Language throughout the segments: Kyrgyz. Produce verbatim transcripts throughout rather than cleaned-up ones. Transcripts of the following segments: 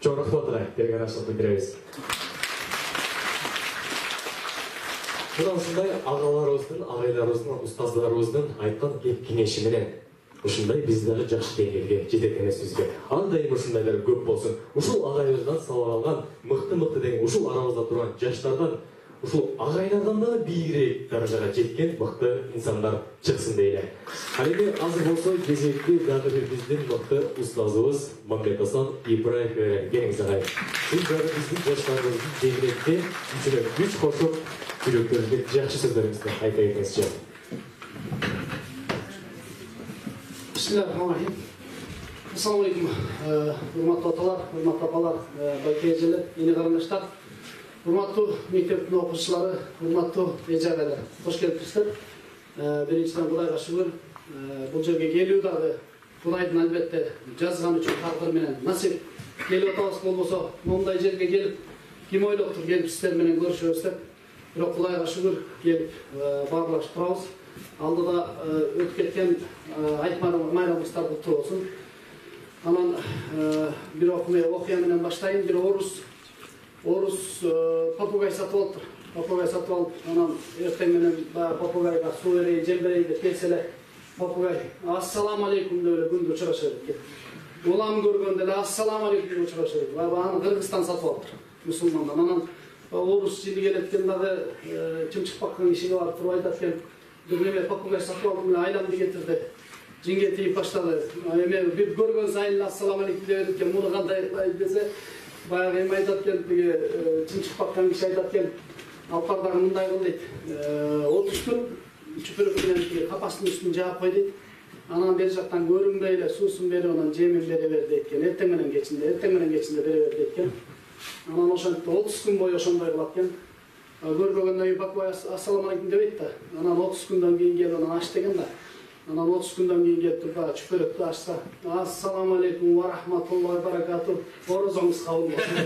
Çok rahmat olay, bergen aşılık bildireriz. Bundan sonra ağalarımыздın, ağaylarımыздın, ustazlarımыздın aytқан кеңеши менен ушундай биз дагы жакшы деңгээлге жетет эмесбизби? Ар дайым ушундайлар көп болсун. Ушул агайыбыздан сабак алган мыкты-мыкты деген ушул арабызда турган жаштардан, ушул агайлардан дагы бийигирээк даражага жеткен мыкты инсандар чыксын дейли. Ал эми азыр болсо кезекти дагы бир биздин мыкты устазыбыз Мамбетасан Ибраев берген. Келиңиз агай. Сиз дагы биздин жаштарыбыздын жеңилетти үчүнө күч кошуп жүрөктөрүнүзгө жакшы сөздөрүңүздү айта кетиңизчи. Bismillahirrahmanirrahim. Assalamu alaikum. Hurmatlı atalar, hurmatlı apalar, bayka ejeler, yeni karandaşlar, hurmatlı mektebin okuçuları, hurmatlı ejabeler. Hoş geldinizler. Birinciden Kudayga şükür. Bu жерге келүү дагы Кудайдын албетте жазганы үчүн такдир менен насип. Келип атабыз болбосо, мондай жерге келип, ким ойлоптур келип сиздер менен көрүшөбүз деп. Бирок Кудайга шүгүр келип баарлашып турабыз. Алдыда өтүп кеткен айтма майрамыбыздар куттуу болсун. Анан бир окуя менен баштайын. Бир орус орус попугай сатып алыптыр. Попугай сатып алып, анан эртең менен баягы попугайга суу берейин, жем берейин деп келсе эле попугай ассаламу алейкум деп эле күндү учураша берет. Улам көргөндө эле ассаламу алейкум деп учураша берет. Аны Кыргызстан сатып алыптыр, мусулмандан. Анан орус жили келеткен дагы чымчык баккан кишиге барып туруп айтат экен, бир неме попугай сатып алдым эле айланды кетирди. Жинге тийип баштады. Эми бир көргөн сайын ассаламу алейкум деп экен, муну кандай кылайын десе, баягы эми айтат экен, тиги чымчык баккан киши айтат экен, алпар дагы мындай кыл дейт. отуз күн чүпүрөк менен капастын үстүн жаап кой дейт. Анан бери жактан көрүнбөй эле суусун берип, анан жемин бере бер дейт экен. Эртең менен кечинде, эртең менен кечинде бере бер дейт экен. Анан ошентип отуз күн бою ошондой кылат экен. Көрбөгөндөн кийин попугай ассаламу алейкум дебейт да. Анан отуз күндөн кийин келип анан аш деген да. Анан отуз күндөн кийин келип туруп баягы чүпүрөктү ачса, ассаламу алейкум ва рахматуллахи ва баракатух. Орозоңуз кабыл болсун.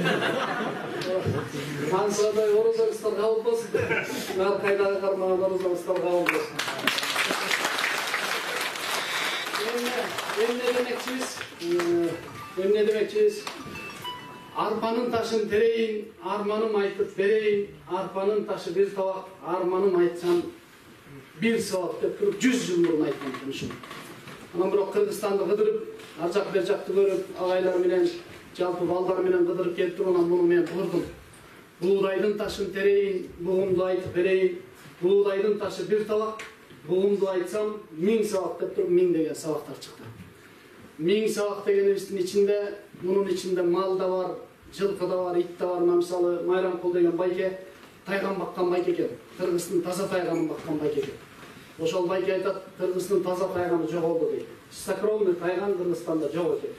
Ансадай орозоңуздар кабыл болсун. Ар кайдагы кармаган орозоңуздар кабыл болсун. Эмне демекчибиз? Эмне демекчибиз? Арпанын ташын терейин, арманым айтып берейин, арпанын ташы бир табак, арманым айтсам бир сабак деп туруп жүз жыл мурун айткан ушул. Анан бирок Кыргызстанды кыдырып, ар жак бер жакты көрүп, агайлар менен, жалпы балдар менен кыдырып келип туруп, анан муну мен курдум. Буудайдын ташын терейин, бугумду айтып берейин, буудайдын ташы бир табак, бугумду айтсам миң сабак деп туруп миң деген сабактар чыкты. Миң сабак дегенибиздин ичинде, мунун ичинде мал да бар, жылкы да бар, ит да бар. Мисалы Майрамкул деген байке тайган баккан байке экен. Кыргыздын таза тайганын баккан байке экен. Ошол байке айтат, Кыргыздын таза тайганы жоголду дейт. Чистокровный тайган Кыргызстанда жок экен.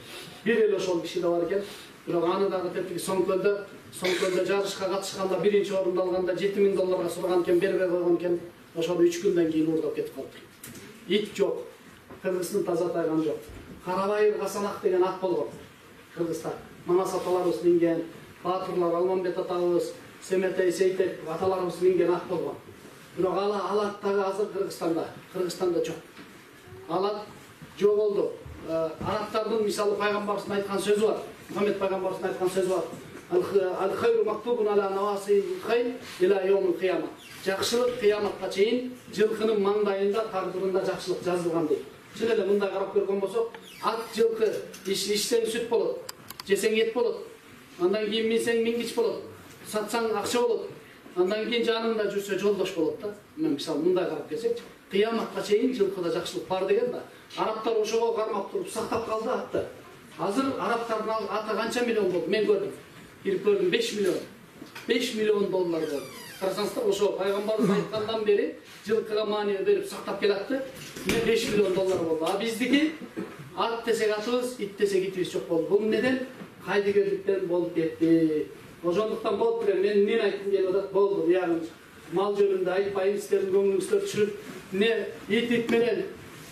Бир эле ошол киши да бар экен. Бирок аны дагы тетиги Соңкөлдө, Соңкөлдө жарышка катышканда биринчи орунду алганда жети миң долларга сураган экен, бербей койгон экен. Ошону үч күндөн кийин уурдап кетип калыптыр. Ит жок. Кыргыздын таза тайганы жок. Карабайыр Касанак деген ат болгон. Кыргызстан. Манас аталарыбыз минген, Батырлар, Алмамбет атабыз, Семетей, Сейтек аталарыбыз минген ат болгон. Бирок ала алат дагы азыр Кыргызстанда, Кыргызстанда жок. Алат жоголду. Арабтардын мисалы пайгамбарыбыздын айткан сөзү бар. Мухаммед пайгамбарыбыздын айткан сөзү бар. Ал-хайру мактубун ала наваси хайр ила йомул кыяма. Жакшылык кыяматка чейин жылкынын маңдайында, тагдырында жакшылык жазылган дейт. Чын эле мындай карап көргөн болсок, ат жылкы ичсең сүт болот, жесең эт болот. Андан кийин минсең мингич болот, сатсаң акча болот. Андан кийин жаныңда жүрсө жолдош болот да. Мен мисалы мындай карап келсекчи, кыяматка чейин жылкыда жакшылык бар деген да. Арабтар ошого кармап туруп сактап калды атты. Азыр арабтардын аты канча миллион болду? Мен көрдүм. Кирип көрдүм беш миллион. беш миллион доллар болду. Карасаңыздар, ошо пайгамбарыбыз айткандан бери жылкыга маани берип сактап келатты. Мен беш миллион доллар болду. А биздики ат десек атыбыз, ит десек итибиз жок болду. Бул неден? Кайдыгерликтен болуп кетти. Ошондуктан болуп келе мен мен айткым келип атат, болду. Буягы мал жөнүндө айтпайын, сиздердин көңүлүңүздөрдү түшүрүп, не ит ит менен,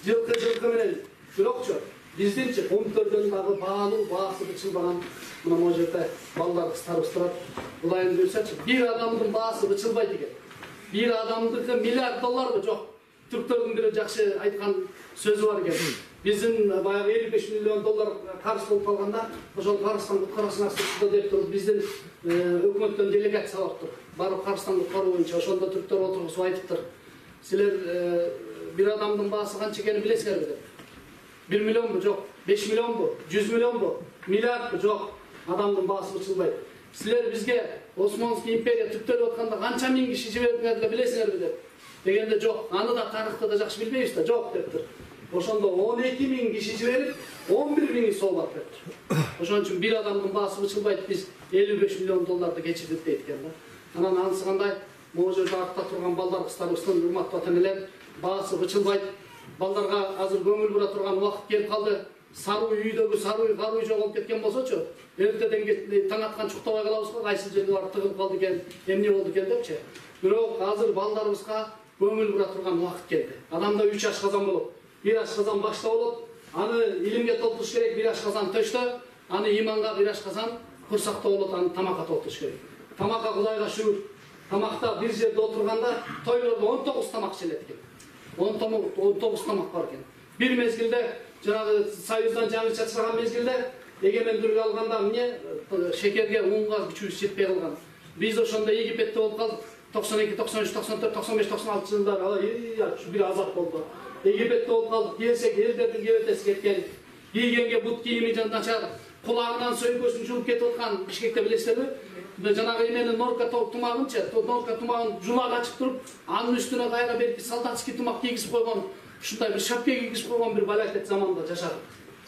жылкы жылкы менен. Бирокчу биздинчи пункттөрдөн дагы баалуу баасы бычылбаган. Мына могу жерде балдар кыздарыбыз турат. Кудайым буйрсачы, бир адамдын баасы бычылбайт экен. Бир адамдыкы миллиард долларбы жок. Түрктөрдүн бири жакшы айткан сөзү бар экен. биздин баягы элүү беш миллион доллар карыз болуп калганда ошол карыздан куткарасың акчасы деп туруп биздин өкмөттөн делегация алыптыр. Барып карыздан куткаруу боюнча ошондо түрктөр отургузуп айтыптыр. Силер бир адамдын баасы канча экенин билесиңерби деп. бир миллионбу жок, беш миллионбу, жүз миллионбу, миллиардбу жок, адамдын баасы бычылбайт. Силер бизге Османский империя түптөлүп атканда канча миң киши жибердиңер деп билесиңерби деп. Дегенде жок, аны да тарыхты да жакшы билбейбиз да, жок дептир. Ошондо он эки миң киши жиберип, он бир миңи соолап дептир. Ошон үчүн бир адамдын баасы бычылбайт, биз элүү беш миллион долларды кечирдик дейт экен да. Анан анысы кандай? Могу жерде артта турган балдар кыздарыбыздын урматтуу ата-энелер баасы бычылбайт. Балдарга азыр көңүл бура турган убакыт келип калды. Саруу үйдөгү саруу каруу жоголуп кеткен болсочу, эртеден таң аткан чуктабай калабыз го, кайсы жерге барып тыгылып калды экен, эмне болду экен депчи. Бирок азыр балдарыбызга көңүл бура турган убакыт келди. Адамда үч ашказан болот. Бир ашказан башта болот, аны илимге толтуруш керек, бир ашказан төштө, аны иманга, бир ашказан курсакта болот, аны тамакка толтуруш керек. Тамакка Кудайга шүгүр. Тамакта бир жерде отурганда тойлордо он тогуз тамак ичилет экен. он тогуз тамак бар экен. Бир мезгилде жанагы Союздан жаңы чачырган мезгилде эгемендүүлүк алганда эмне шекерге, унга күчүбүз жетпей калган. Биз ошондо Египетте болуп калдык. токсон эки, токсон үч, токсон төрт, токсон беш, токсон алты жылдары бир азап болду. Египетте болуп калдык. Келсек элдердин кебетеси кеткен, кийгенге бут кийими начар, кулагынан сөйкөсүн жууп кетип аткан Бишкекте билесиздерби? Жанагы эменин норка тумагынчы, норка тумагын жулак ачып туруп, анын үстүнө кайра берки солдатский тумак кийгизип койгон, ушундай бир шапка кийгизип койгон бир балакет заманда жашадык.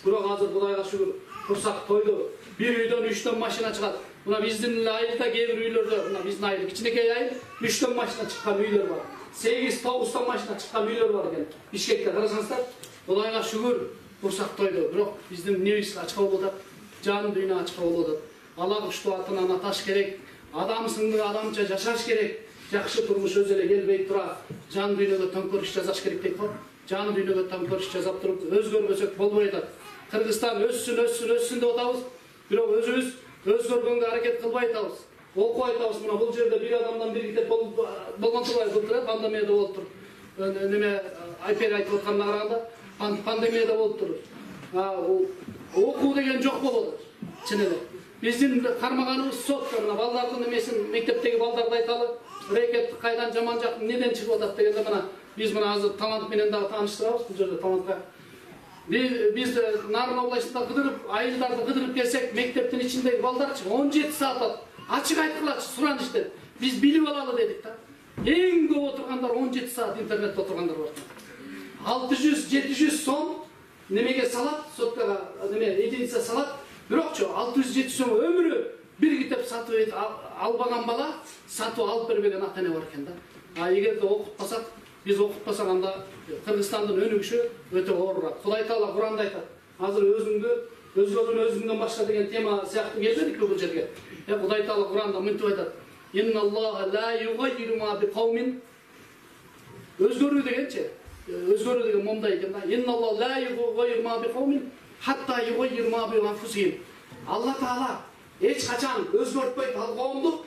Бирок азыр Кудайга шүгүр, курсак тойду. Бир үйдөн үчтөн машина чыгат. Мына биздин эле айылда кээ бир үйлөрдө, мына биздин айыл кичинекей айыл, үчтөн машина чыккан үйлөр бар. сегиз, тогузтон машина чыккан үйлөр бар экен. Бишкекте карасаңыздар, Кудайга шүгүр, курсак тойду. Бирок биздин эмнебиз ачка болуп атат? Жан дүйнө ачка болуп атат. Ала куштуу атынан аташ керек, адам сынды адамча жашаш керек, жакшы турмуш өзү эле келбей тура, жан дүйнөгө төңкөрүш жасаш керек дейт го. Жан дүйнөгө төңкөрүш жасап туруп өзгөрбөсөк болбой атат. Кыргызстан өссүн, өссүн, өссүн деп атабыз, бирок өзүбүз өзгөргөнгө аракет кылбай атабыз. Окуп атабыз, мына бул жерде бир адамдан бир китеп болгон турбайбы, былтыр пандемияда болуп тур. Неме айпер айтып атканына караганда пандемияда болуп тур. Окуу деген жок болуп атат. Чын эле. Биздин кармаганыбыз сотко, мына балдардын эмесин, мектептеги балдарды айталы, рекет кайдан жаман жак неден чыгып атат дегенде мына биз мына азыр талант менен дагы тааныштырабыз, бул жерде талантка. Биз Нарын областында кыдырып, айылдарды кыдырып келсек, мектептин ичиндеги балдарчы он жети саат ачык айткылачы сураныш деп. Биз билип алалы дедик да. Эң көп отургандар он жети саат интернетте отургандар бар. алты жүз жети жүз сом немеге салат, соткага неме единица салат. Бирокчу алты жүз жети жүз сом өмүрү бир китеп сатып албаган бала, сатып алып бербеген ата-эне бар экен да. А эгерде окутпасак, биз окутпасак анда Кыргызстандын өнүгүшү өтө оорураак. Кудай Таала Куранда айтат. Азыр өзүңдү, өзгөрүүнү өзүңдөн башка деген тема сыяктуу келбедикпи бул жерге? Э Кудай Таала Куранда мынтип айтат. Инналлаха ла югайру ма би кавмин. Өзгөрүү дегенчи, өзгөрүү деген момдай экен да. Инналлаха ла югайру ма би кавмин хатта югайру ма би анфусихим. Алла Таала эч качан өзгөртпөйт ал коомду.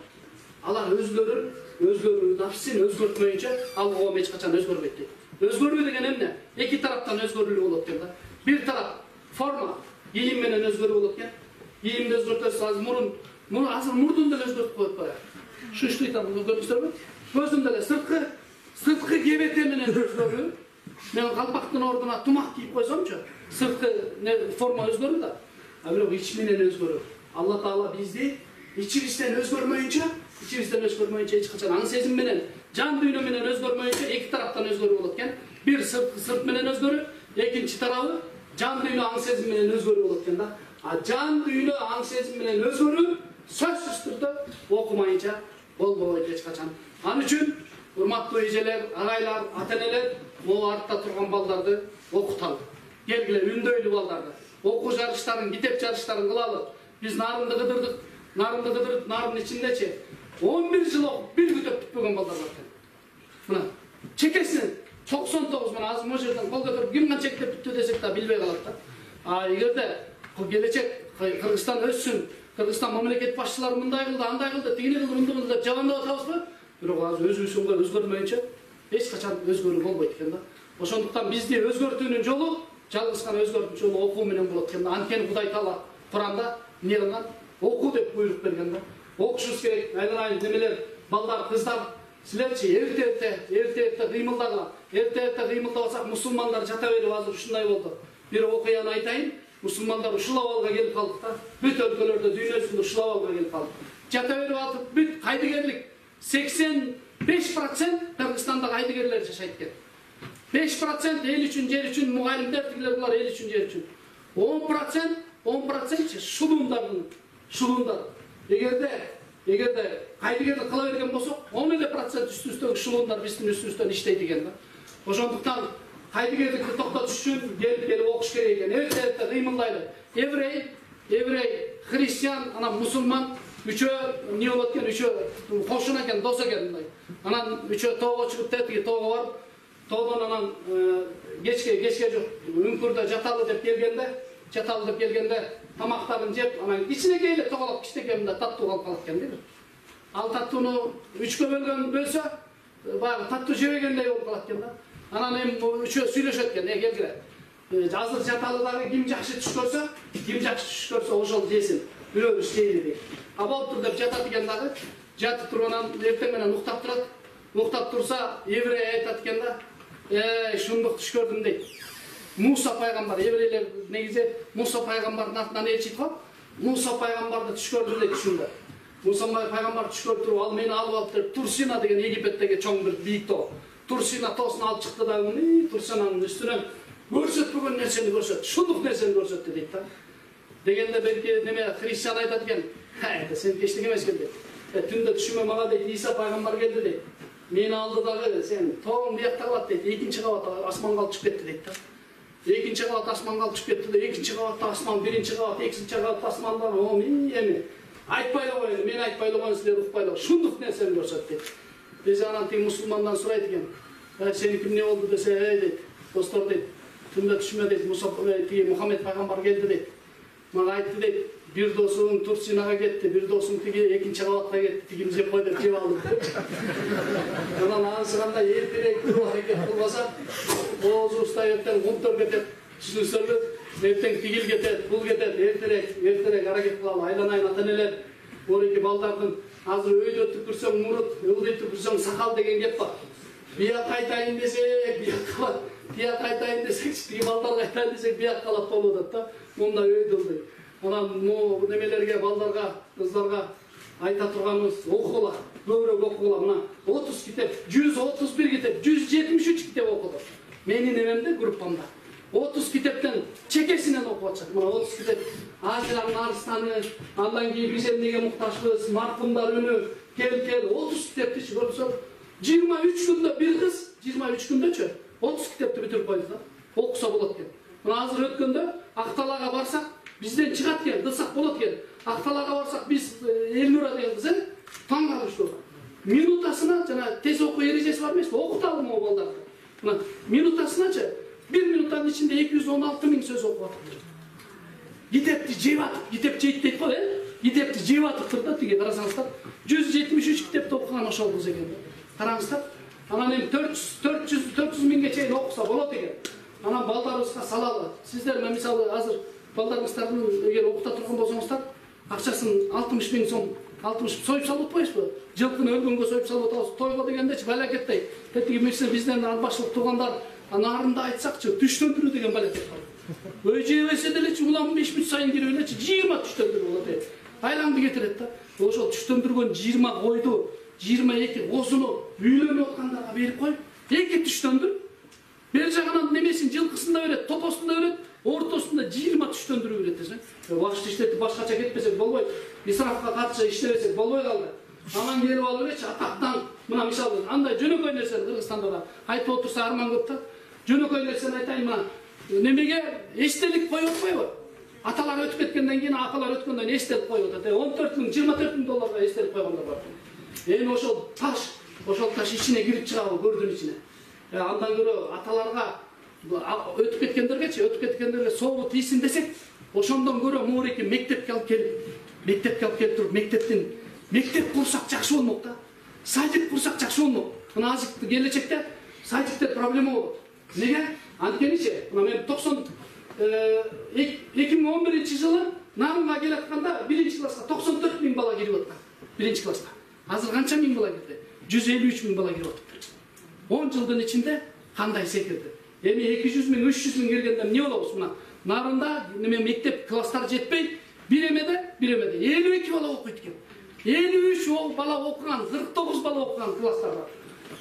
Алар өзлөрүн, өзгөрүү нафсин өзгөртмөйүнчө ал коом эч качан өзгөрбөйт дейт. Өзгөрүү деген эмне? Эки тараптан өзгөрүү болот экен да. Бир тарап форма, ийим менен өзгөрүү болот экен. Ийимди өзгөртөсүз, азыр мурун, мурун азыр мурдун деле өзгөртүп коюп коёт. Шуштуй там көрдүңүздөрбү? Көздүн деле сырткы, сырткы кебете менен өзгөрүү. Мен калпактын ордуна тумак кийип койсомчу, сырткы форма өзгөрүү да. А бирок ич менен өзгөрүү. Алла Таала бизди ичибизден өзгөрмөйүнчө, ичибизден өзгөрмөйүнчө эч качан аң сезим менен, жан дүйнө менен өзгөрмөйүнчө эки тараптан өзгөрүү болот экен. Бир сырт сырт менен өзгөрүү, экинчи тарабы жан дүйнө аң сезим менен өзгөрүү болот экен да. А жан дүйнө аң сезим менен өзгөрүү сөзсүз түрдө окумайынча болбойт эч качан. Ал үчүн урматтуу эжелер, агайлар, ата-энелер, могу артта турган балдарды окуталы. Келгиле үндөйлү балдарды. Окуу жарыштарын, китеп жарыштарын кылалы. Биз Нарынды кыдырдык, Нарынды кыдырып, Нарын ичиндечи он бир жыл окуп, бир китеп бүтпөгөн балдар бар экен. Мына чекесинен токсон тогуз мына азыр могу жерден кол көтөрүп ким канча китеп бүттү десек да билбей калат да. А эгерде келечек Кыргызстан өссүн, Кыргызстан мамлекет башчылары мындай кылды, андай кылды, тигини кылды, мындай кылды деп жамандап атабызбы? Бирок азыр өзүбүздүн өзгөрмөйүнчө эч качан өзгөрүү болбойт экен да. Ошондуктан бизди өзгөртүүнүн жолу жалгыз гана өзгөртүнчү жолу окуу менен болот экен да. Анткени Кудай Таала Куранда эмне кылган? Окуу деп буйрук берген да. Окушубуз керек. Айналайын немелер, балдар, кыздар, силерчи эрте-эрте, эрте-эрте кыймылдагыла. Эрте-эрте кыймылдабасак мусулмандар жата берип азыр ушундай болду. Бир окуяны айтайын. Мусулмандар ушул абалга келип калдык да. Бүт өлкөлөрдө, дүйнө жүзүндө ушул абалга келип калдык. Жата берип атып бүт кайдыгерлик сексен беш процент Кыргызстанда кайдыгерлер жашайт экен. беш процент эл үчүн, жер үчүн мугалимдер, тигилер булар эл үчүн, жер үчүн. он процент, он процент шулуундардын, шулуундар. Эгерде, эгерде кайдыгерлик кыла берген болсок, он эле процент үстүбүздөгү шулуундар биздин үстүбүздөн иштейт экен да. Ошондуктан кайдыгерликти токтотуш үчүн келип келип окуш керек экен. Эрте-эрте кыймылдайлы. Еврей, еврей, христиан, анан мусулман үчөө эмне болот экен, үчөө кошуна экен, дос экен мындай. Анан үчөө тоого чыгып тетиги тоого барып, тоодон анан кечке кечке жок үңкүрдө жаталы деп келгенде, жаталы деп келгенде тамактарын жеп, анан кичинекей эле тоголоп кичинекей мындай таттуу калып калат экен дейби. Ал таттууну үчкө бөлгөн бөлсө, баягы таттуу жебегендей болуп калат экен да. Анан эми үчөө сүйлөшөт экен, э келгиле. Азыр жаталыдагы ким жакшы түш көрсө, ким жакшы түш көрсө ошол жесин. Бирөөбүз жейли дейт. А болуптур деп жатат экен дагы. Жатып туруп анан эртең менен уктап турат. Уктап турса, еврей айтат экен да. Э, шундук түш көрдүм дейт. Муса пайгамбар, еврейлер негизи Муса пайгамбардын артынан элчит го. Муса пайгамбарды түш көрдүм дейт түшүндө. Муса пайгамбар түш көрүп туруп, ал мени алып алып деп Турсина деген Египеттеги чоң бир бийик тоо. Турсина тоосун алып чыкты да, мыни Турсинанын үстүнөн көрсөтпөгөн нерсени көрсөттү. Шундук нерсени көрсөттү дейт да. Дегенде белки неме христиан айтат экен. Ха, сен эчтеке эмес экен дейт. Түндө түшүмө мага дейт Иса пайгамбар келди дейт. Мени алды дагы сен тоң биякта калат дейт. Экинчи кабат асманга алып чыгып кетти дейт да. Экинчи кабат асманга алып чыгып кетти да. Экинчи кабатта асман, биринчи кабат, экинчи кабатта асманда, о эми айтпай эле коеюн, мен айтпай эле коеюн, силер укпай эле. Шундук нерсени көрсөт дейт. Биз анан тиги мусулмандан сурайт экен. Сеники эмне болду десе, эй дейт. Достор дейт. Түндө түшүмө дейт, Муса тиги Мухаммед пайгамбар келди дейт. Мага айтты дейт, бир досуң Турсинага кетти, бир досуң тиги экинчи кабатка кетти, тигим жеп кой деп жеп алдым. Анан анысы кандай эртерээк туруп аракет кылбаса, оозубузда эртең кумтөр кетет, түшүнүңүздөрбү? Эртең тигил кетет, бул кетет, эртерээк, эртерээк аракет кылалы. Айланайын ата-энелер, оройки балдардын азыр өйдө түкүрсөң мурут, ылдый түкүрсөң сакал деген кеп бар. Бияк кайтайын десек, бияк калат. Бияк кайтайын десек, тиги балдар кайтайын десек, бияк калат болуп атат да. Мындай өйдө ылдый. Анан могу немелерге, балдарга, кыздарга айта турганыбыз, окугула, көбүрөөк окугула. Мына отуз китеп, жүз отуз бир китеп, жүз жетимиш үч китеп окуду. Менин эмемде, группамда. отуз китептен чекесинен окуп атышат. Мына отуз китеп. Ажранын арыстаны, андан кийин биз эмнеге муктажбыз, маркумдар үнү, кел кел отуз китепти көрсөк, жыйырма үч күндө бир кыз, жыйырма үч күндөчү отуз китепти бүтүрүп койду да. Окуса болот экен. Мына азыр өткөндө Акталага барсак, бизден чыгат экен, кылсак болот экен. Акталага барсак, биз Элнура деген кыз, таң калыштуу. Минутасына жана тез окуу эрежеси бар эмеспи? Окуталы могу балдарды. Мына минутасыначы бир минуттан ичинде эки жүз он алты миң сөз окуп атыптыр. Китепти жеп атып, китеп жейт дейт го, э? Китепти жеп атыптыр да, тиги карасаңыздар. жүз жетимиш үч китепти окуган ошол кыз экен. Караңыздар. Анан эми төрт жүз миңге чейин окуса болот экен. Анан балдарыбызга салалы. Сиздер мисалы азыр балдарыңыздардын эгер окута турган болсоңуздар, акчасын алтымыш миң сом, алтымыш союп салып атпайсызбы? Жылкыны өлгөнгө союп салып атабыз. Тойго дегендечи балакеттей. Тетиги бизден албаштылык тургандар анарында айтсакчы, түштөндүрүү деген балакет бар. Өй жебесе делечи улам беш мүнөт сайын кирип элечи жыйырма түштөндүрүү болот э. Айланды кетирет да. Ошол түштөндүргөн жыйырма койду, жыйырма эки козуну үйлөнүп аткандарга берип коюп, эки түштөндүр. Бер жагынан немесин жылкысында берет, топосунда берет, ортосунда жыйырма түштөндүрүү берет десең. Башты иштетип башкача кетпесек болбойт. Исрафка каршы иштебесек болбой калды. Анан келип алып элечи атактан, мына мисалы андай жөнөкөй нерсени Кыргызстанда да айтып отурса арман көп да. Жөнөкөй нерсени айтайын, мына немеге эстелик коюп атпайбы? Аталар өтүп кеткенден кийин, апалар өткөндөн кийин эстелик коюп атат. он төрт миң, жыйырма төрт миң долларга эстелик койгондар бар. Эми ошол таш, ошол таш ичине кирип чыгабы, көрдүн ичине. Андан көрө аталарга өтүп кеткендергечи, өтүп кеткендерге сообут ийсин десек, ошондон көрө муреки мектепке алып келип, мектепке алып келип туруп, мектептин мектеп курсак жакшы болмок да. Садик курсак жакшы болмок. Мына азыр келечекте садикте проблема болот. Неге? Анткеничи мына мен токсон эки миң он биринчи жылы Нарынга келатканда биринчи класска токсон төрт миң бала кирип аткан. Биринчи класска. Азыр канча миң бала кирди? жүз элүү үч миң бала кирип атыптыр. он жылдын ичинде кандай секирди? Эми эки жүз миң, үч жүз миң келгенде эмне болобуз? Мына Нарында неме мектеп класстар жетпей, бир эмеде, бир эмеде элүү эки бала окуйт экен. элүү үч бала окуган, кырк тогуз бала окуган класстар бар.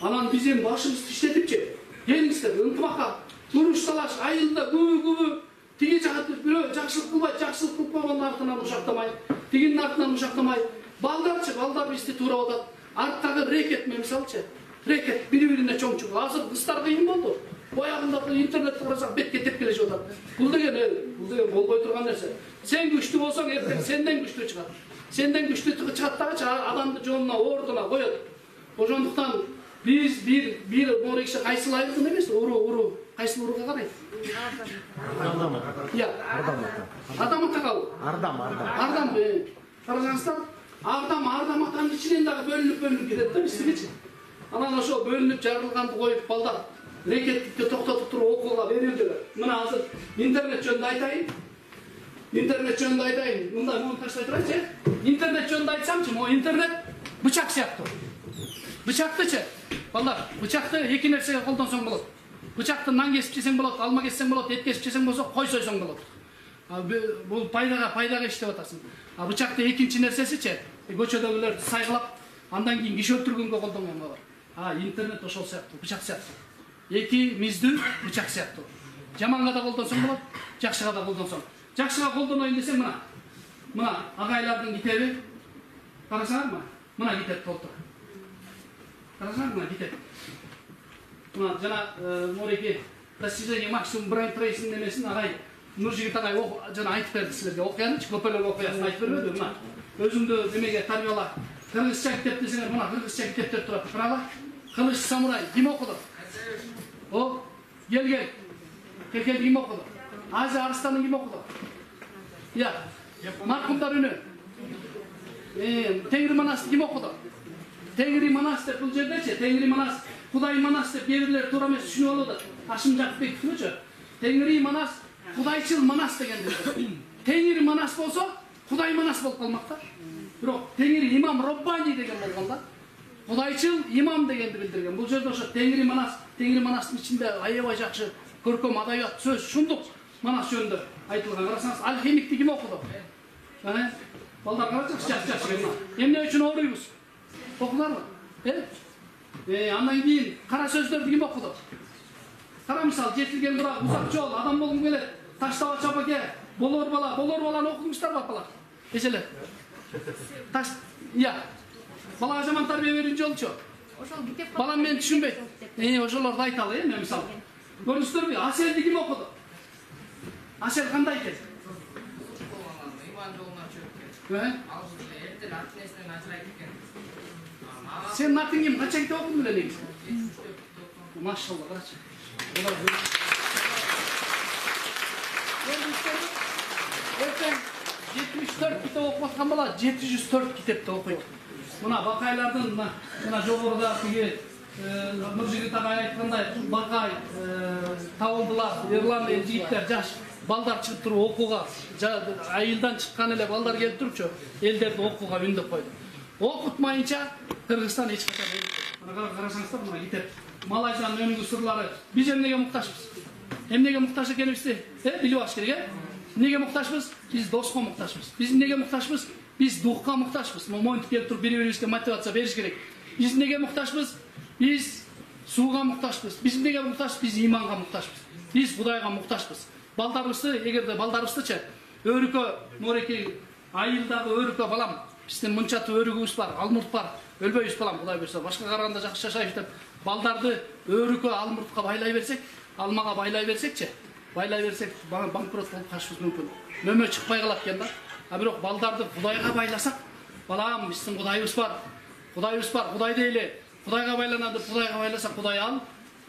Анан биз эми башыбызды иштетипчи, келиңиздер, ынтымакка, уруш талаш, айылда күбө-күбө тиги жакты бирөө жакшылык кылбайт, жакшылык кылып койгондун артынан ушактамай, тигинин артынан ушактамай, балдарчы, балдар бизди туурап атат. Арттагы рекет мисалчы, рекет бири-бирине чоң чугу. Азыр кыздар кыйын болду. Боягында интернетти карасак бетке тепкелешип атат. Бул деген, бул деген болбой турган нерсе. Сен күчтүү болсоң, эртең сенден күчтүү чыгат. Сенден күчтүү чыгат дагычы адамды жонуна, ордуна коет. Ошондуктан биз бир бир море киши кайсыл айылдын эмес, уру, уру, кайсыл уруга карайт? Ардам. Я. Ардам. Адам атагал. Ардам, ардам. Ардам. Карасаңыздар, Ардам, Ардам атанын ичинен дагы бөлүнүп бөлүнүп кетет да бизгичи. Анан ошо бөлүнүп жарылганды коюп балдар рекетти токтотуп туруп окууга берилди. Мына азыр интернет жөнүндө айтайын. Интернет жөнүндө айтайын. Мындай муну таштай турайынчы. Интернет жөнүндө айтсамчы, могу интернет бычак сыяктуу. Бычактычы, балдар, бычакты эки нерсеге колдонсоң болот. Бычакты нан кесип жесең болот, алма кессең болот, эт кесип жесең болсо, кой сойсоң болот. Бул пайдага, пайдага иштеп атасың. А бычакты экинчи нерсесичи, көчөдөгүлөрдү сайгылап, андан кийин киши өлтүргөнгө колдонгон бар. А интернет ошол сыяктуу, бычак сыяктуу. Эки миздүү бычак сыяктуу. Жаманга да колдонсоң болот, жакшыга да колдонсоң. Жакшыга колдоноюн десең мына. Мына агайлардын китеби. Карасаңарбы? Мына китеп толтур. Карасаңар, мына китеп. Мына жана мореки достижение максимум брейн трейсинг немесин агай Нуржигит агай жана айтып берди силерге. Окуянычы көпөлөк окуясын айтып бербеди. Мына өзүңдү немеге тарбияла. Кыргызча китеп десеңер, мына кыргызча китептер турат. Карагыла. Кылыч самурай ким окуду? О, кел кел. Кекел ким окуду? Азия Арыстанын ким окуду? Я. Маркумдар үнү. Э, Теңири Манасты ким окуду? Теңири Манас деп бул жердечи, Теңири Манас, Кудай Манас деп кээ-бирлер туура эмес түшүнүп алды. Ашым Жакыпбековчу. Теңири Манас, Кудайчыл Манас дегенди. Теңири Манас болсо, Кудай Манас болуп калмак да. Бирок Теңири Имам Роббани деген болгон да. Кудайчыл имам дегенди билдирген. Бул жерде ошо Теңири Манас, Теңири Манастын ичинде аябай жакшы көркөм адабият сөз, шундук Манас жөнүндө айтылган. Карасаңыз, алхимикти ким окуду? Э? Балдар карачыңыз, жакшы-жакшы. Эмне үчүн ооруйбуз? Окуларбы? Э? Э, андан кийин кара сөздөрдү ким окуду? Кара мисал, жетилген курак, узак жол, адам болгум келет, таштаба чапаке, болор бала, болор баланы окудуңуздарбы апалар? Эчелер. Таш, я. Балага жаман тарбия берүүнү жолчу. Ошол китеп балам мен түшүнбөйт. Э, ошолорду айталы, э, мен мисал. Көрүңүздөрбү? Аселди ким окуду? Асел кандай экен? Сен натың ким? Канча китеп окудуң эле негизи? Машалла, карачы. Эртең жетимиш төрт китеп окуп аткан бала жети жүз төрт китепти окуйт. Мына бакайлардын мына жогоруда тиги Нуржигит агай айткандай бакай табылдылар, Ирландия жигиттер, жаш балдар чыгып туруп окууга, айылдан чыккан эле балдар келип турчу, элдерди окууга үндөп койду. Окутмайынча Кыргызстан эч качан элбейт. Мына карасаңыздар, мына китеп Малайзиянын өнүгүү сырлары. Биз эмнеге муктажбыз? Эмнеге муктаж экенибизди, э, билип алыш керек, э? Эмнеге муктажбыз? Биз доска муктажбыз. Биз эмнеге муктажбыз? Биз духка муктажбыз. Моментип келип туруп бири-бирибизге мотивация бериш керек. Биз эмнеге муктажбыз? Биз сууга муктажбыз. Биз эмнеге муктажбыз? Биз иманга муктажбыз. Биз Кудайга муктажбыз. Балдарыбызды, эгерде балдарыбыздычы өрүкө, мореки айылдагы өрүкө балам, биздин мынча өрүгүбүз бар, алмурт бар, өлбөйбүз балам, Кудай буйрса, башка караганда жакшы жашайбыз деп балдарды өрүкө, алмуртка байлай берсек, алмага байлай берсекчи, байлай берсек банкрот болуп калышыбыз мүмкүн. Нөмө чыкпай калат экен да. А бирок балдарды Кудайга байласак, балам, биздин Кудайыбыз бар. Кудайыбыз бар, Кудай дейле. Кудайга байланады, Кудайга байласак, Кудай ал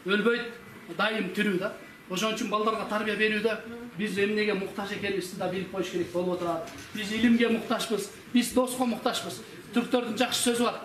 өлбөйт, дайым тирүү да. Ошон үчүн балдарга тарбия берүүдө биз эмнеге муктаж экенибизди да билип коюш керек болуп отурат. Биз илимге муктажбыз, биз доска муктажбыз. Түрктөрдүн жакшы сөзү бар.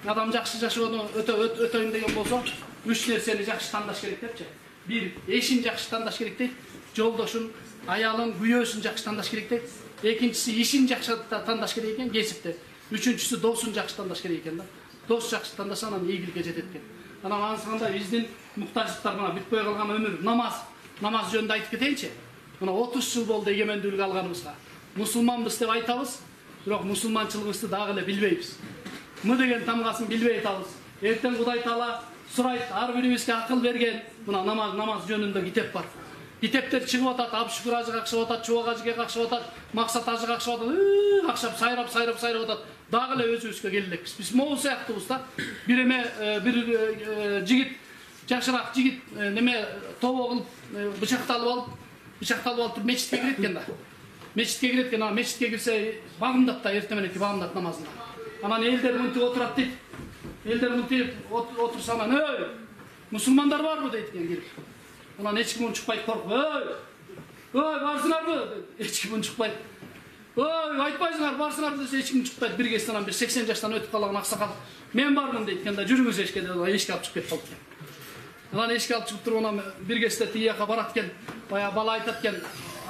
Адам жакшы жашоону өтө өтөйм деген болсо, үч нерсени жакшы тандаш керек депчи. бир эшин жакшы тандаш керек дейт, жолдошун, аялын, күйөөсүн жакшы тандаш керек дейт. Экинчиси ишин жакшы тандаш керек экен, кесипте. Үчүнчүсү досун жакшы тандаш керек экен да. Дос жакшы тандаса анан ийгиликке жетет экен. Анан ансыканда биздин муктаждыктар мына бүтпөй калган өмүр, намаз, намаз жөнүндө айтып кетейинчи. Мына отуз жыл болду эгемендүүлүк алганыбызга. Мусулманбыз деп айтабыз, бирок мусулманчылыгыбызды дагы эле билбейбиз. М деген тамгасын билбей атабыз. Эртең Кудай Таала сурайт, ар бирибизге акыл берген. Мына намаз, намаз жөнүндө китеп бар. Китептер чыгып атат, Абшүкүр ажы какшып атат, Чубак ажыга какшып атат, Максат ажы какшып атат, какшап сайрап, сайрап, сайрап атат. Дагы эле өзүбүзгө келелекпиз. Биз могу сыяктуубуз да. Бир эме, бир жигит, жакшыраак жигит неме тобо кылып, бычакталып алып, бычакталып алып мечитке кирет экен да. Мечитке кирет экен, анан мечитке кирсе багымдат да, эртең мененки багымдат намазында. Анан элдер мынтип отурат дейт. Элдер мынтип отурса анан, "Эй, мусулмандар барбы?" дейт экен кирип. Анан эч ким унчукпайт, коркуп, "Эй, ой, барсыңарбы?" Эч ким унчукпайт. "Ой, айтпайсыңар, барсыңар" десе эч ким унчукпайт. Бир кесте анан бир сексен жаштан өтүп калган аксакал, "Мен бармын" дейт экен да, "Жүрүңүз эшикке" деп эшикке алып чыгып кетип калат экен. Анан эшикке алып чыгып туруп анан бир кесте тиги жака барат экен. Баягы бала айтат экен,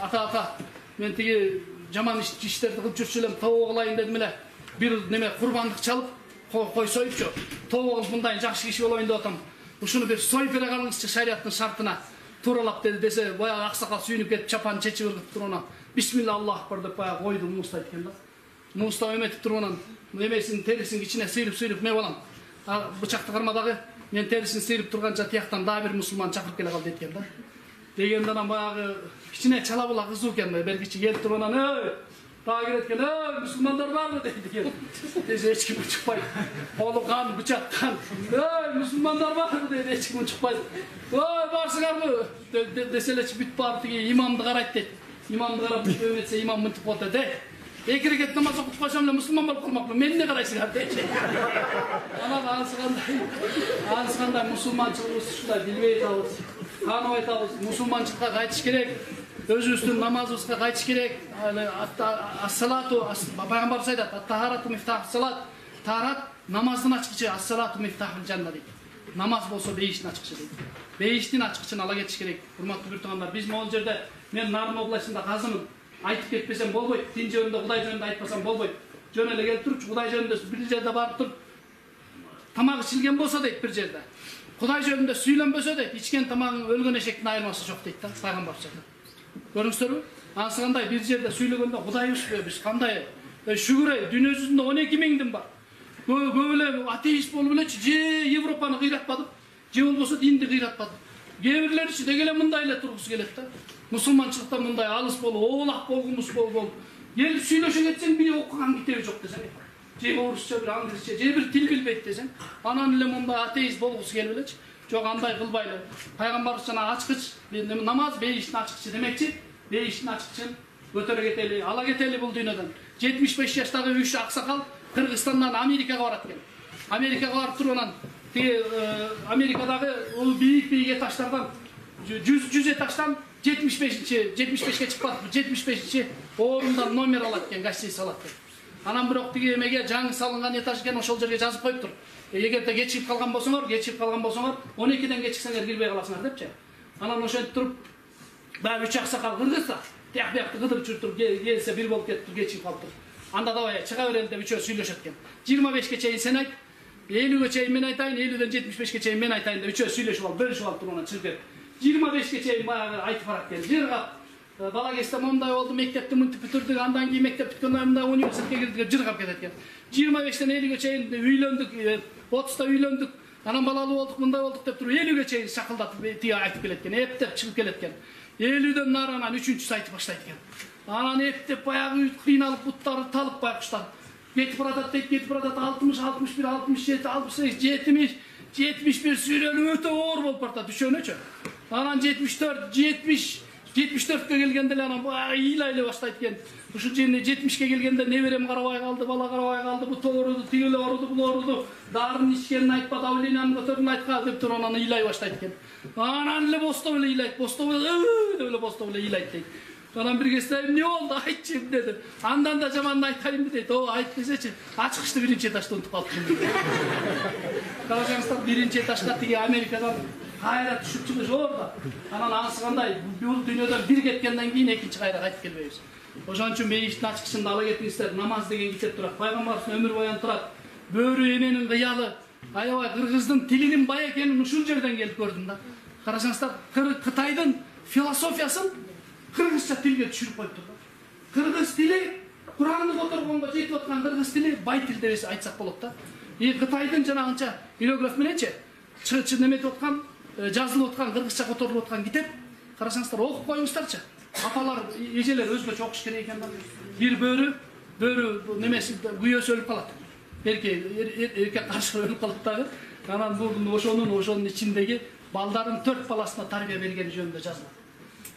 "Ата, ата, мен тиги жаман иштерди кылып жүрчү элем, тобо кылайын дедим эле. Бир неме курбандык чалып, кой союпчу. Тобо кылып мындай жакшы киши болоюн деп атам. Ушуну бир союп бере калыңызчы шариаттын шартына." Тууралап деди десе, баягы аксакал сүйүнүп кетип чапан чечип ыргытып туруп анан "Бисмилла, Аллах акбар" деп баягы койду, муустайт экен да. Муустап эметип туруп анан эмесин терисин кичине сыйрып-сыйрып "Ме балам, бычакты кармадагы, мен терисин сыйрып турганча тияктан дагы бир мусулман чакырып келе кал" дейт экен да. Дегенде анан баягы кичине чала була кызуу экен, бергичи келип туруп анан "Эй, дагы кирет экен, "Эй, мусулмандар барбы?" дейт экен. Десе эч ким чыкпайт. Колу кан, бычак кан. "Эй, мусулмандар барбы?" дейт, эч ким чыкпайт. "Ой, барсыңарбы?" десе элечи бүт барып тиги имамды карайт дейт. Имамды карап өметсе имам мынтип коет дейт. "Эки рекет намаз окуп койсом эле мусулман болуп калмакмын, мени эмне карайсыңар" дейт. Анан ансыкандай, ансыкандай мусулманчылыгыбызды ушундай билбей атабыз, тааныбай атабыз. Мусулманчылыкка кайтыш керек. Өзүбүздүн намазыбызга кайтыш керек. Ас-салату, пайгамбарыбыз айтат, "Ат-тахарату мифтахус салат." Таарат намаздын ачкычы, "Ас-салату мифтахул жанна" дейт. Намаз болсо бейиштин ачкычы дейт. Бейиштин ачкычын ала кетиш керек. Урматтуу бир туугандар, биз могул жерде мен Нарын областында казымын. Айтып кетпесем болбойт. Дин жөнүндө, Кудай жөнүндө айтпасам болбойт. Жөн эле келип турчу Кудай жөнүндө бир жерде барып туруп тамак ичилген болсо дейт бир жерде. Кудай жөнүндө сүйлөнбөсө дейт, ичкен тамагың өлгөн эшектин айырмасы жок дейт да, пайгамбар айтат. Көрүңүздөрбү? Ансыгандай бир жерде сүйлөгөндө Кудайбызбы биз кандай шүгүр эй, дүйнө жүзүндө он эки миң дин бар. Көп эле атеист болуп элечи, же Европаны кыйратпадып, же болбосо динди кыйратпадып. Кээ бирлеричи деги эле мындай эле тургусу келет да. Мусулманчылыкта мындай алыс болуп, оолак болгумуз болуп, келип сүйлөшө кетсең бири окуган китеби жок десең, же орусча, бир англисче, же бир тил билбейт десең, анан эле мындай атеист болгусу келип элечи. Жок, андай кылбайлы. Пайгамбарыбыз жана ачкыч, намаз бейиштин ачкычы демекчи, бейиштин ачкычын көтөрө кетели, ала кетели бул дүйнөдөн. жетимиш беш жаштагы үч аксакал Кыргызстандан Америкага барат экен. Америкага барып туруп анан тиги Америкадагы ул бийик-бийик этаждардан жүз этаждан жетимиш бешинчи, жетимиш бешке чыгып атып, жетимиш бешинчи орундан номер алат экен, гостиница алат экен. Анан бирок тиги эмеге жаңы салынган этаж экен, ошол жерге жазып коюптур. Эгерде кечигип калган болсоңор, кечигип калган болсоңор, он экиден кечиксеңер кирбей каласыңар депчи. Анан ошентип туруп, баягы үч аксакал кыргызса, тияк биякты кыдырып жүрүп келсе бир болуп кетип кечигип калыптыр. Анда давай чыга берели деп үчөө сүйлөшөт экен. жыйырма бешке чейин сен айт, элүүгө чейин мен айтайын, элүүдөн жетимиш бешке чейин мен айтайын деп үчөө сүйлөшүп алып, бөлүшүп алып туруп анан чыгып кетип. жыйырма бешке чейин баягы айтып барат экен. Жыргап, бала кезде мондай болду, мектепти мынтип бүтүрдүк, андан кийин мектеп бүткөндөн мындай университетке кирдик деп жыргап кетет экен. жыйырма бештен элүүгө чейин үйлөндүк, отузда үйлөндүк, анан балалуу болдук, мындай болдук деп туруп элүүгө чейин шакылдатып тиги айтып келет экен, эптеп чыгып келет экен. элүүдөн нары анан үчүнчүсү айтып баштайт экен. Анан эптеп баягы кыйналып, буттары талып байкуштар. Кетип баратат дейт, кетип баратат, алтымыш, алтымыш бир, алтымыш жети, алтымыш сегиз, жетимиш, жетимиш бир сүйлөнүү өтө оор болуп баратат үшөөнөчү. Анан жетимиш төрт, жетимиш, жетимиш төрткө келгенде эле анан баягы ыйлайлай баштайт экен. Ушул жерде жетимишке келгенде неберем карабай калды, бала карабай калды, бут ооруду, тиги эле ооруду, бул ооруду, дарын ичкенин айтпа, давлениянын көтөрүн айтка деп туруп анан ыйлай баштайт экен. Анан эле бостоп эле ыйлайт, бостоп эле деп эле бостоп эле ыйлайт дейт. Анан бир кезде эмне болду, айтчы деди. Андан да жаманын айтайынбы дейт. О, айт десечи, ачкычты биринчи этажда унутуп калыптыр. Карасаңыздар, биринчи этажга тиги Америкадан кайра түшүп чыгыш орда. Анан анысы кандай бул дүйнөдөн бир кеткенден кийин экинчи кайра кайтып келбейбиз. Ошон үчүн мейиштин ачкычында ала кетиңиздер. Намаз деген китеп турат. Пайгамбарыбыздын өмүр баяны турат. Бөрү эненин кыялы. Аябай кыргыздын тилинин бай экенин ушул жерден келип көрдүм да. Карасаңыздар, Кытайдын философиясын кыргызча тилге түшүрүп коюптур да. Кыргыз тили Куранды которгонго жетип аткан кыргыз тили бай тил деп айтсак болот да. И Кытайдын жанагынча иероглиф мененчи чы неметип аткан, жазылып аткан кыргызча которулуп аткан китеп. Карасаңыздар, окуп коюңуздарчы. Апалар, эжелер өзгөчө окуш керек экен да. Бир бөрү, бөрү немеси күйөөсү өлүп калат. Эркек эркек каршы өлүп калат дагы. Анан бул ошонун ошонун ичиндеги балдарын төрт баласына тарбия бергени жөнүндө жазылат.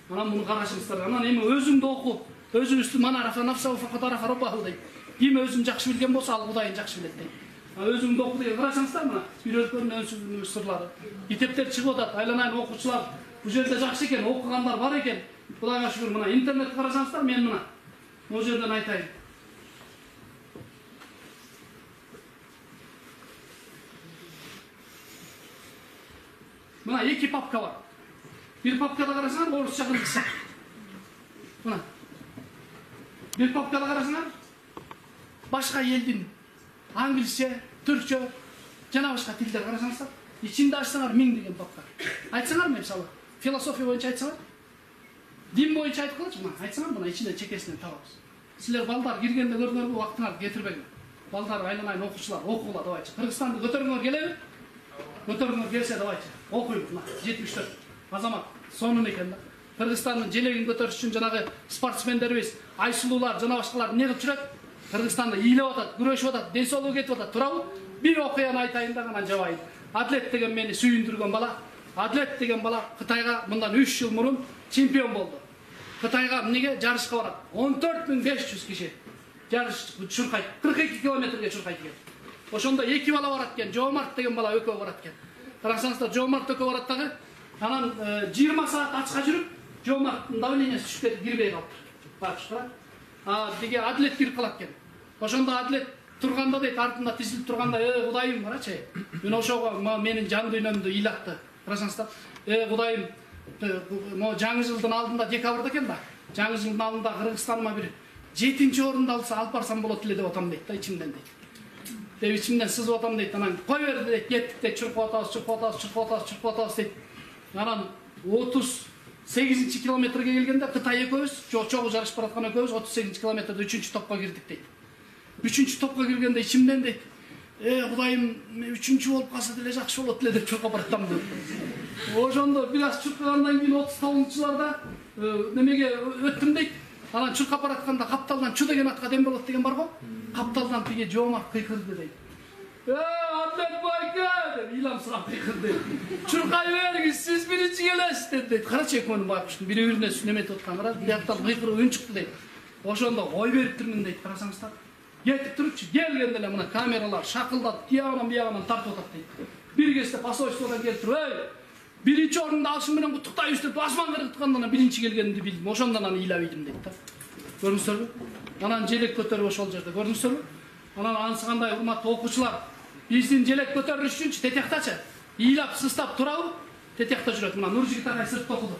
Анан муну карашыңыздар. Анан эми өзүңдү оку. Өзүңүздү мана арафа нафса факат арафа раббаху дейт. Ким өзүн жакшы билген болсо, ал Кудайын жакшы билет дейт. Өзүңдү оку деген карасаңыздар, мына үйрөткөн өнсүз сырлары. Китептер чыгып атат, айланайын окуучулар бул жерде жакшы экен, окугандар бар экен. Кудайга шүгүр, мына интернет карасаңыздар, мен мына могу жерден айтайын. Мына эки папка бар. Бир папкада карасаңар, орусча кыргызча. Мына. Бир папкада карасаңар, башка элдин англисче, түркчө, жана башка тилдер карасаңыздар, ичинде ачсаңар миң деген папка. Айтсаңар, мисалы, философия боюнча айтсаңар, дин боюнча айтып калачы, мына айтсаңар, мына ичинде чекесинен табабыз. Силер балдар киргенде көрдүңөрбү, убактыңарды кетирбеңер. Балдар айланайын окуучулар, окугула давайчы. Кыргызстанды көтөрүңөр келеби? Көтөрүңөр келсе давайчы. Окуйбуз, мына жетимиш төрт азамат сонун экен да. Кыргызстандын желегин көтөрүш үчүн жанагы спортсмендерибиз, айсулуулар, жана башкалар эмне кылып жүрөт? Кыргызстанда ыйлап атат, күрөшүп атат, ден соолугу кетип атат, туурабы? Бир окуяны айтайын да, анан жабайын. Атлет деген мени сүйүндүргөн бала. Атлет деген бала Кытайга мындан үч жыл мурун чемпион болду. Кытайга эмнеге жарышка барат? он төрт миң беш жүз киши жарыш чуркайт, кырк эки километрге чуркайт экен. Ошондо эки бала барат экен, Жоомарт деген бала экөө барат экен. Карасаңыздар, Жоомарт экөө барат дагы. Анан жыйырма саат ачка жүрүп, Жоомарттын давлениеси түшүп кетип кирбей калыптыр. Бакчы. А деге Адлет кирип калат экен. Ошондо Адлет турганда дейт, артында тизилип турганда, "Э, Кудайым, карачы. Мен ошого менин жан дүйнөмдү ыйлатты." Карасаңыздар, "Э, Кудайым, могу жаңы жылдын алдында декабрда экен да. Жаңы жылдын алдында Кыргызстаныма бир жетинчи орунду алса алып барсам болот эле деп атам" дейт да, ичимден дейт. Деп ичимден сызып атам дейт. Анан кой бер дейт, кеттик дейт, чуркуп атабыз, чуркуп атабыз, чуркуп атабыз, чуркуп атабыз дейт. Анан отуз сегизинчи километрге келгенде Кытай экөөбүз, чогуу жарышып бараткан экөөбүз отуз сегизинчи километрде үчүнчү топко кирдик дейт. үчүнчү топко киргенде ичимден дейт, "Э, Кудайым, үчүнчү болуп калса деле жакшы болот эле" деп чуркап баратам дейт. Ошондо бир аз чуркагандан кийин отуз тогузунчуларда немеге өттүм дейт. Анан чуркап баратканда капталдан чу деген атка дем болот деген барго. Капталдан тиге Жоомарт кыйкырды дейт. "Э, Атлет байке" деп ыйламсырап кыйкырды. "Чуркай бергиз, сиз биринчи келесиз" дейт. Карачы экөөнүн байкуштун бири-бирине неметип аткан, кара, бияктан кыйкырып үн чыкты дейт. Ошондо кой бериптирмин дейт, карасаңыздар. Кетип турупчу, келгенде эле мына камералар шакылдап, тиягынан биягынан тартып атат дейт. Бир кезде посольстводон келип туруп, "Эй, биринчи орунду алышың менен куттуктайбыз" деп асман кыргытканда биринчи келгенди билдим. Ошондон аны ыйлап ийдим дейт да. Көрдүңүздөрбү? Анан желек көтөрүп ошол жерде, көрдүңүздөрбү? Анан анысы кандай, урматтуу окуучулар, биздин желек көтөрүлүш үчүнчү тетяктачы ыйлап сыстап турабы? Тетякта жүрөт. Мына Нуржигит агай сыртта окуду.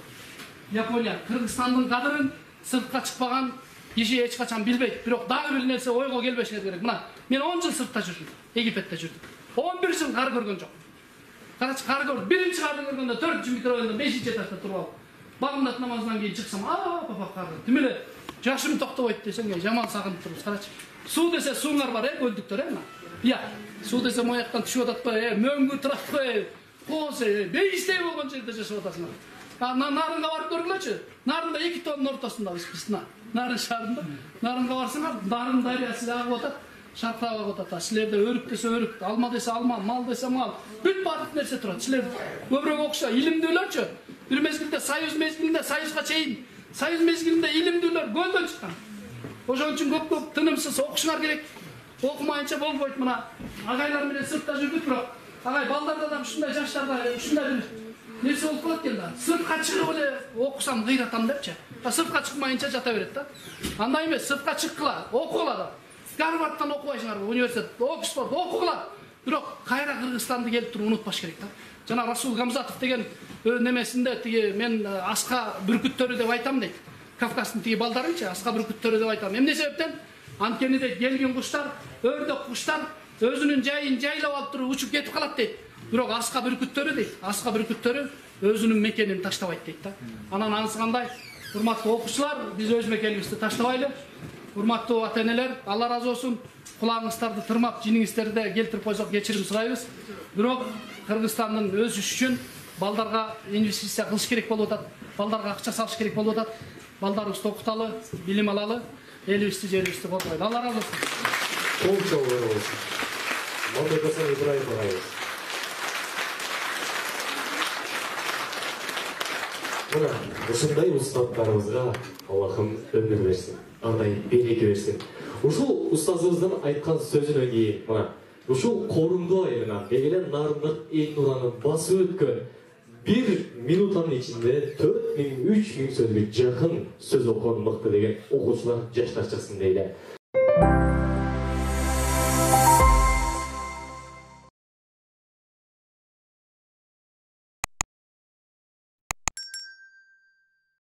Япония Кыргызстандын кадырын сыртка чыкпаган киши эч качан билбейт. Бирок дагы бир нерсе ойго келбеши керек. Мына мен он жыл сыртта жүрдүм, Египетте жүрдүм. он бир жыл кар көргөн жок. Карачы кар көрдүм. Биринчи карды көргөндө төртүнчү микрорайондо бешинчи этажда туруп алып, багымдат намазынан кийин чыксам, "А, папа кар. Тим эле жашым токтобойт" десең, жаман сагынып турбуз. Карачы. Суу десе сууңар бар, э, көлдүктөр, э, мына. Бия. Суу десе мояктан түшүп атат го, э, мөңгү турат го, э. Козе, бейиштей болгон жерде жашап атасыңар. А нарынга барып көргүлөчү. Нарында эки тоонун ортосундабыз биз. Нарын шаарында. Нарынга барсаңар, нарын дарыясы агып атат, шаркырап агып атат. Силерде өрүк десе өрүк, алма десе алма, мал десе мал. Бүт баардык нерсе турат. Силер көбүрөөк окуша, илимдүүлөрчү. Бир мезгилде Союз мезгилинде Союзга чейин, Союз мезгилинде илимдүүлөр көлдөн чыккан. Ошон үчүн көп-көп тынымсыз окушуңар керек. Окумайынча болбойт. Мына агайлар менен сыртта жүрдүк, бирок агай балдарда да ушундай жаштарда ушундай бир нерсе болуп калат экен да. Сыртка чыгып эле окусам кыйратам депчи. А сыртка чыкмайынча жата берет да. Андай эмес, сыртка чыккыла, окугула да. Гарвардтан окубайсыңарбы, университет, Оксфорд окугула. бирок кайра Кыргызстанды келип туруп унутпаш керек да. Жана Расул Гамзатов деген немесинде тиги мен аска бүркүттөрү деп айтам дейт. Кавказдын тиги балдарынчы аска бүркүттөрү деп айтам. Эмне себептен? Анткени де келген куштар, өрдөк куштар өзүнүн жайын жайлап алып туруп учуп кетип калат дейт. Бирок аска бүркүттөрү дейт, аска бүркүттөрү өзүнүн мекенин таштабайт дейт да. Анан анысы кандай? Урматтуу окуучулар, биз өз мекенибизди таштабайлы. Урматтуу ата-энелер, Алла разы болсун. Кулагыңыздарды тырмап, жиниңиздерди келтирип койсок кечирим сурайбыз. Бирок Кыргызстандын өсүшү үчүн балдарга инвестиция кылыш керек болуп атат. Балдарга акча салыш керек болуп атат. Балдарыбызды окуталы, билим алалы, элибизди жерибизди коргойлу. Алла разы болсун. Кол чабуулар болсун. Мамбет Асан Ибраев агайыбыз. Мына, ушундай устаттарыбызга Аллахым өмүр берсин, андай береке берсин. Ушул устазыбыздын айткан сөзүнөн кийин, мына, ушул корумдуу айылынан Эгелен Нарындык эл нуранын басып өткөн бир минутанын ичинде төрт миң, үч миң сөзгө жакын сөз окуган мыкты деген окуучулар, жаштар чыксын дейли.